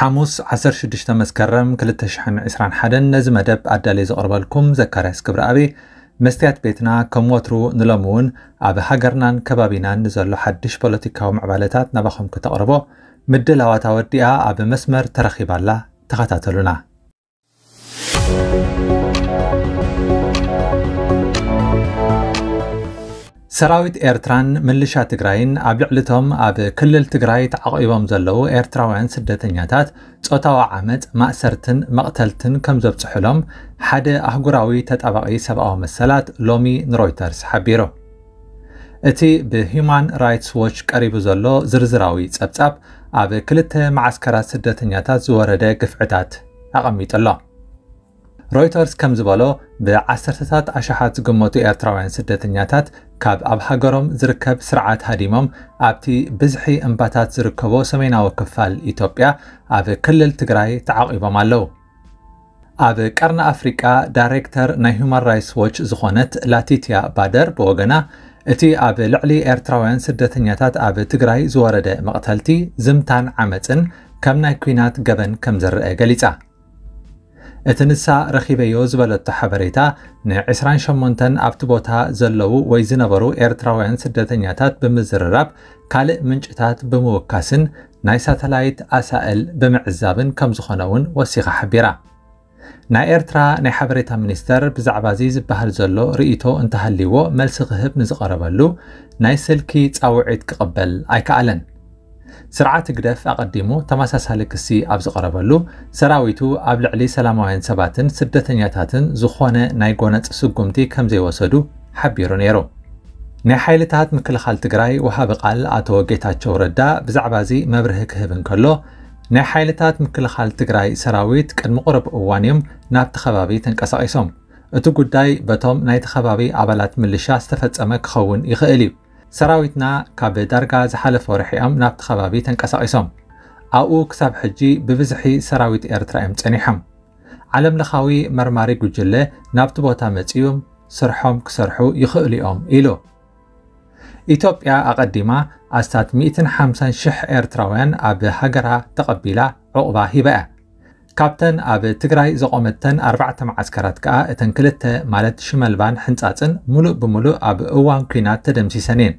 ሓሙስ ዓሰርተ ሽዱሽተ መስከረም ክልተ ሽሕን ዕስራን ሓደን ነዚ መደብ ኣዳልየ ዘቕርበልኩም ዘካርያስ ክብረኣብ። መስትያት ቤትና ከም ወትሩ ንሎሚ እውን ኣብ ሃገርናን ከባቢናን ንዘሎ ሓድሽ ፖለቲካዊ ምዕባለታት ናባኹም ክተቕርቦ ምድላዋታ ወዲኣ ኣብ መስመር ተረኺባላ። ተኸታተሉና። ሰራዊት ኤርትራን ምልሻ ትግራይን ኣብ ልዕሊ እቶም ኣብ ክልል ትግራይ ተዓቒቦም ዘለዉ ኤርትራውያን ስደተኛታት ጾታዊ ዓመጽ፣ ማእሰርትን መቕተልትን ከም ዘብጽሑሎም ሓደ ኣህጉራዊ ተጣባቒ ሰብኣዊ መሰላት ሎሚ ንሮይተርስ ሓቢሩ። እቲ ብሂዩማን ራይትስ ዎች ቀሪቡ ዘሎ ዝርዝራዊ ጸብጻብ ኣብ ክልተ መዓስከራት ስደተኛታት ዝወረደ ግፍዕታት ኣቐሚጡ ኣሎ። ሮይተርስ ከም ዝበሎ፣ ብዓሰርተታት ኣሽሓት ዝግመቱ ኤርትራውያን ስደተኛታት ካብ ኣብ ሃገሮም ዝርከብ ስርዓት ሃዲሞም ኣብቲ ብዝሒ እምባታት ዝርከቦ ሰሜናዊ ክፋል ኢትዮጵያ ኣብ ክልል ትግራይ ተዓቒቦም ኣለዉ። ኣብ ቀርኒ ኣፍሪቃ ዳይሬክተር ናይ ሁማን ራይትስ ዎች ዝኾነት ላቲትያ ባደር ብወገና፣ እቲ ኣብ ልዕሊ ኤርትራውያን ስደተኛታት ኣብ ትግራይ ዝወረደ መቕተልቲ፣ ዝምታን ዓመጽን ከም ናይ ኲናት ገበን ከም ዝረአ ገሊጻ። እቲ ንሳ ረኺበዮ ዝበለቶ ሓበሬታ፣ ንዕስራን ሸሞንተን ኣብቲ ቦታ ዘለዉ ወይ ዝነበሩ ኤርትራውያን ስደተኛታት ብምዝርራብ፣ ካልእ ምንጭታት ብምውካስን ናይ ሳተላይት ኣሳእል ብምዕዛብን ከም ዝኾነ እውን ወሲኻ ሓቢራ። ናይ ኤርትራ ናይ ሓበሬታ ሚኒስተር ብዛዕባ እዚ ዝበሃል ዘሎ ርእይቶ እንተሃልይዎ መልሲ ክህብ ንዝቐረበሉ ናይ ስልኪ ጻውዒት ክቕበል ኣይከኣለን። ስርዓት ህግደፍ ኣቐዲሙ ተመሳሳሊ ክሲ ኣብ ዝቐረበሉ፣ ሰራዊቱ ኣብ ልዕሊ ሰላማውያን ሰባትን ስደተኛታትን ዝኾነ ናይ ጎነጽ ስጉምቲ ከም ዘይወሰዱ ሓቢሩ ነይሩ። ናይ ሓይልታት ምክልኻል ትግራይ ወሃቢ ቃል ኣቶ ጌታቸው ረዳ ብዛዕባ እዚ መብርሂ ክህብ እንከሎ፣ ናይ ሓይልታት ምክልኻል ትግራይ ሰራዊት ቅድሚ ቁሩብ እዋን እዮም ናብቲ ከባቢ ተንቀሳቒሶም። እቲ ጉዳይ በቶም ናይቲ ከባቢ ኣባላት ምልሻ ዝተፈጸመ ክኸውን ይኽእል እዩ። ሰራዊትና ካብ ዳርጋ ዝሓለፈ ወርሒ እዮም ናብቲ ከባቢ ተንቀሳቒሶም። ኣብኡ ክሳብ ሕጂ ብብዝሒ ሰራዊት ኤርትራ እዮም ጸኒሖም። ዓለምለኻዊ መርማሪ ጉጅለ ናብቲ ቦታ መጺኦም ስርሖም ክሰርሑ ይኽእሉ እዮም ኢሉ። ኢትዮጵያ ኣቐዲማ ኣስታት ሚእትን ሓምሳን ሽሕ ኤርትራውያን ኣብ ሃገራ ተቐቢላ ዑቕባ ሂባ እያ። ካብተን ኣብ ትግራይ ዘቖመተን ኣርባዕተ መዓስከራት ከኣ እተን ክልተ ማለት ሽመልባን ሕንጻጽን ምሉእ ብምሉእ ኣብ እዋን ኲናት ተደምሲሰን እየን።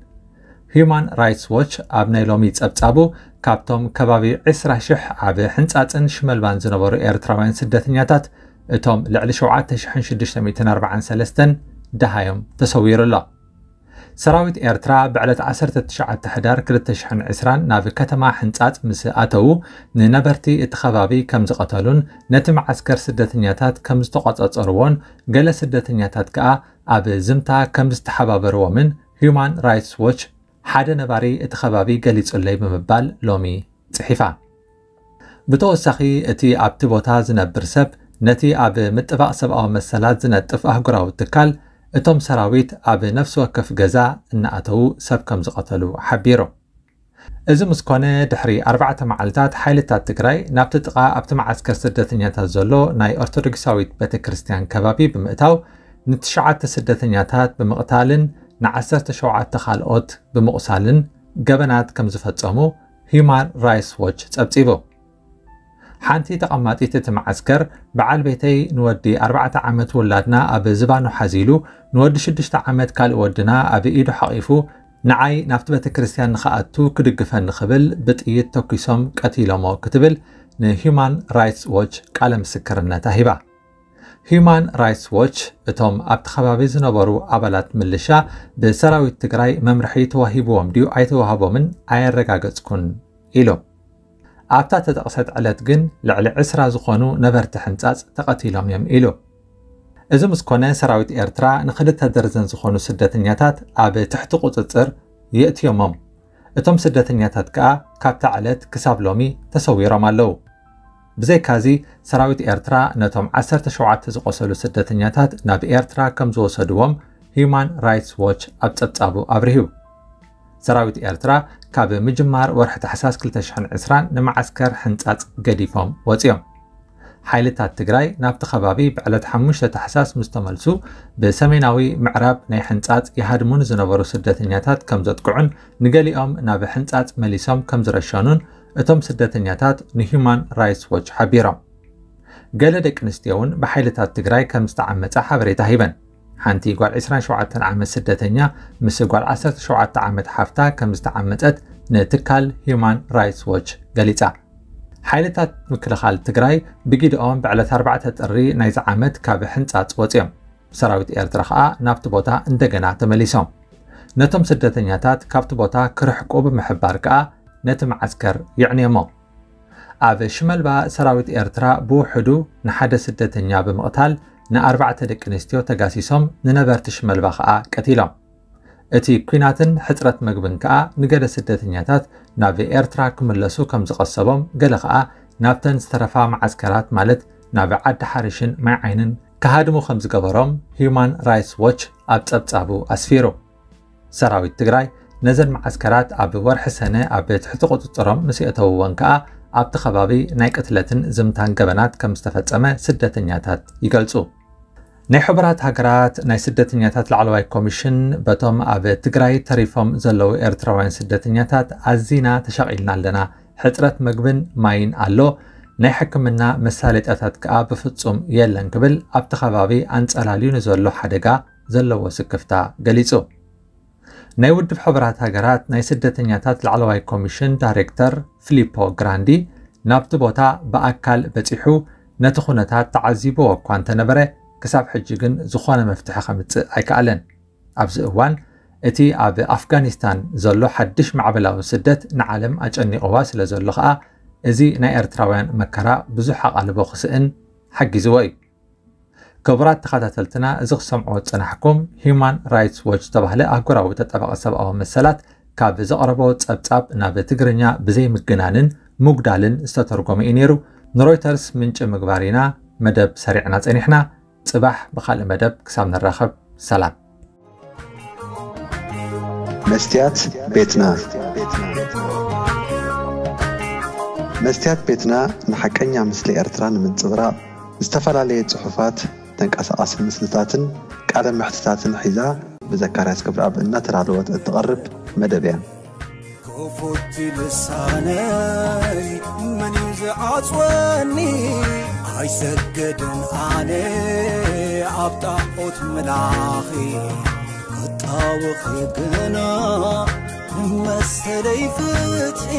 ሂዩማን ራይትስ ዎች ኣብ ናይ ሎሚ ጸብጻቡ፣ ካብቶም ከባቢ ዕስራ ሽሕ ኣብ ሕንጻጽን ሽመልባን ዝነበሩ ኤርትራውያን ስደተኛታት፣ እቶም ልዕሊ ሸውዓተ ሽሕን ሽዱሽተ ሚእትን ኣርባዓን ሰለስተን ደሃዮም ተሰዊሩ ኣሎ። ሰራዊት ኤርትራ ብዕለት ዓሰርተ ትሽዓተ ሕዳር ክልተ ሽሕን ዕስራን ናብ ከተማ ሕንጻጽ ምስ ኣተዉ፣ ንነበርቲ እቲ ከባቢ ከም ዝቐተሉን ነቲ መዓስከር ስደተኛታት ከም ዝተቖጻጸርዎን፣ ገለ ስደተኛታት ከኣ ኣብ ዝምታ ከም ዝተሓባበርዎምን ሂዩማን ራይትስ ዎች ሓደ ነባሪ እቲ ከባቢ ገሊጹለይ ብምባል ሎሚ ጽሒፋ። ብተወሳኺ፣ እቲ ኣብቲ ቦታ ዝነብር ሰብ ነቲ ኣብ ምጥባቕ ሰብኣዊ መሰላት ዝነጥፍ ኣህጉራዊ ትካል፣ እቶም ሰራዊት ኣብ ነፍሲ ወከፍ ገዛ እናኣተዉ ሰብ ከም ዝቐተሉ ሓቢሩ። እዚ ምስ ኮነ፣ ድሕሪ ኣርባዕተ መዓልታት ሓይልታት ትግራይ ናብቲ ጥቓ ኣብቲ መዓስከር ስደተኛታት ዘሎ ናይ ኦርቶዶክሳዊት ቤተ ክርስቲያን ከባቢ ብምእታው፣ ንትሽዓተ ስደተኛታት ብምቕታልን ንዓሰርተ ሸውዓተ ካልኦት ብምቑሳልን ገበናት ከም ዝፈጸሙ ሂዩማን ራይትስ ዎች ጸብጺቡ። ሓንቲ ተቐማጢት እቲ መዓስከር፣ በዓል ቤተይ ንወዲ ኣርባዕተ ዓመት ውላድና ኣብ ዝባኑ ሓዚሉ፣ ንወዲ ሽዱሽተ ዓመት ካልእ ወድና ኣብ ኢዱ ሓቒፉ፣ ንዓይ ናብቲ ቤተ ክርስቲያን ንኽኣቱ ክድግፈኒ ክብል ብጥይት ተኲሶም ቀቲሎሞ ክትብል ንሂዩማን ራይትስ ዎች ቃለ ምስክርነታ ሂባ። ሂዩማን ራይትስ ዎች፣ እቶም ኣብቲ ከባቢ ዝነበሩ ኣባላት ምልሻ ብሰራዊት ትግራይ መምርሒ ተዋሂብዎም ድዩ ኣይተዋህቦምን ኣየረጋገጽኩን ኢሉ። ኣብታ ተጠቕሰት ዕለት ግን ልዕሊ ዕስራ ዝኾኑ ነበርቲ ሕንጻጽ ተቐቲሎም እዮም ኢሉ። እዚ ምስ ኮነ፣ ሰራዊት ኤርትራ ንኽልተ ደርዘን ዝኾኑ ስደተኛታት ኣብ ትሕቲ ቁጽጽር የእትዮሞም። እቶም ስደተኛታት ከኣ ካብታ ዕለት ክሳብ ሎሚ ተሰዊሮም ኣለዉ። ብዘይካዚ፣ ሰራዊት ኤርትራ ነቶም ዓሰርተ ሸውዓተ ዝቖሰሉ ስደተኛታት ናብ ኤርትራ ከም ዝወሰድዎም ሂዩማን ራይትስ ዎች ኣብ ጸብጻቡ ኣብሪሁ። ሰራዊት ኤርትራ ካብ ምጅማር ወርሒ ታሕሳስ ክልተ ሽሕን ዕስራን ንመዓስከር ሕንጻጽ ገዲፎም ወጺኦም። ሓይልታት ትግራይ ናብቲ ከባቢ ብዕለት ሓሙሽተ ታሕሳስ ምስ ተመልሱ፣ ብሰሜናዊ ምዕራብ ናይ ሕንጻጽ ይሃድሙ ንዝነበሩ ስደተኛታት ከም ዘጥቅዑን ንገሊኦም ናብ ሕንጻጽ መሊሶም ከም ዝረሸኑን እቶም ስደተኛታት ንሂዩማን ራይትስ ዎች ሓቢሮም። ገለ ደቂ ኣንስትዮ እውን ብሓይልታት ትግራይ ከም ዝተዓመጻ ሓበሬታ ሂበን። ሓንቲ ጓል ዕስራን ሸውዓተን ዓመት ስደተኛ ምስ ጓል ዓሰርተ ሸውዓተ ዓመት ሓፍታ ከም ዝተዓመጸት ንትካል ሂዩማን ራይትስ ዎች ገሊጻ። ሓይልታት ምክልኻል ትግራይ ብጊድኦም ብዕለት ኣርባዕተ ጥሪ ናይዚ ዓመት ካብ ሕንጻጽ ወጺኦም። ሰራዊት ኤርትራ ከኣ ናብቲ ቦታ እንደገና ተመሊሶም። ነቶም ስደተኛታት ካብቲ ቦታ ክርሕቁ ብምሕባር ከኣ ነቲ መዓስከር የዕንዮሞ። ኣብ ሽመልባ ሰራዊት ኤርትራ ብውሕዱ ንሓደ ስደተኛ ብምቕታል ንኣርባዕተ ደቂ ኣንስትዮ ተጋሲሶም፣ ንነበርቲ ሽመልባ ከኣ ቀቲሎም። እቲ ኲናትን ሕጽረት መግብን ከኣ ንገለ ስደተኛታት ናብ ኤርትራ ክምለሱ ከም ዝቐሰቦም፣ ገለ ከኣ ናብተን ዝተረፋ መዓስከራት ማለት ናብ ዓዲ ሓርሽን ማይ ዓይንን ክሃድሙ ከም ዝገበሮም ሂዩማን ራይትስ ዎች ኣብ ጸብጻቡ ኣስፊሩ። ሰራዊት ትግራይ ነዘን መዓስከራት ኣብ ወርሒ ሰነ ኣብ ትሕቲ ቁጽጽሮም ምስ የእተውወን ከኣ ኣብቲ ከባቢ ናይ ቅትለትን ዝምታን ገበናት ከም ዝተፈጸመ ስደተኛታት ይገልጹ። ናይ ሕቡራት ሃገራት ናይ ስደተኛታት ላዕለዋይ ኮሚሽን በቶም ኣብ ትግራይ ተሪፎም ዘለዉ ኤርትራውያን ስደተኛታት ኣዚና ተሻቒልና ኣለና። ሕጽረት መግብን ማይን ኣሎ። ናይ ሕክምና መሳለጥያታት ከኣ ብፍጹም የለን ክብል ኣብቲ ከባቢ ኣንጸላልዩ ንዘሎ ሓደጋ ዘለዎ ስክፍታ ገሊጹ። ናይ ውድብ ሕቡራት ሃገራት ናይ ስደተኛታት ላዕለዋይ ኮሚሽን ዳይሬክተር ፊሊፖ ግራንዲ ናብቲ ቦታ ብኣካል በጺሑ ነቲ ኩነታት ተዓዚብዎ እኳ እንተነበረ፣ ክሳብ ሕጂ ግን ዝኾነ መፍትሒ ከምጽእ ኣይከኣለን። ኣብዚ እዋን እቲ ኣብ ኣፍጋኒስታን ዘሎ ሓድሽ ማዕበላዊ ስደት ንዓለም ኣጨኒቕዋ ስለ ዘሎ ከኣ፣ እዚ ናይ ኤርትራውያን መከራ ብዙሕ ኣቓልቦ ክስእን ሓጊዝዎ እዩ። ክቡራት ተኸታተልትና፣ እዚ ክሰምዕዎ ዝጸናሕኩም ሂዩማን ራይትስ ዎች ዝተባህለ ኣህጉራዊ ተጣባቒ ሰብኣዊ መሰላት ካብ ዘቕረቦ ጸብጻብ ናብ ትግርኛ ብዘይምግናንን ምጉዳልን ዝተተርጎመ እዩ ነይሩ። ንሮይተርስ ምንጪ ምግባር ኢና መደብ ሰሪዕና ጸኒሕና። ጽባሕ ብኻልእ መደብ ክሳብ ንራኸብ፣ ሰላም። መስትያት ቤትና። መስትያት ቤትና ንሓቀኛ ምስሊ ኤርትራ ንምንጽብራቕ ዝተፈላለየ ጽሑፋት፣ ተንቀሳቓሲ ምስልታትን ቃለ መሕትታትን ሒዛ ብዘካርያስ ክብረኣብ እናተዳለወት እትቐርብ መደብ እያ። ክፉት ልሳነይ መን እዩ ዝዓጽወኒ? ኣይሰግድን ኣነ ኣብ ጣዖት ምላኺ፣ ክጣወኺ ግና መሰለይ ፍትሒ።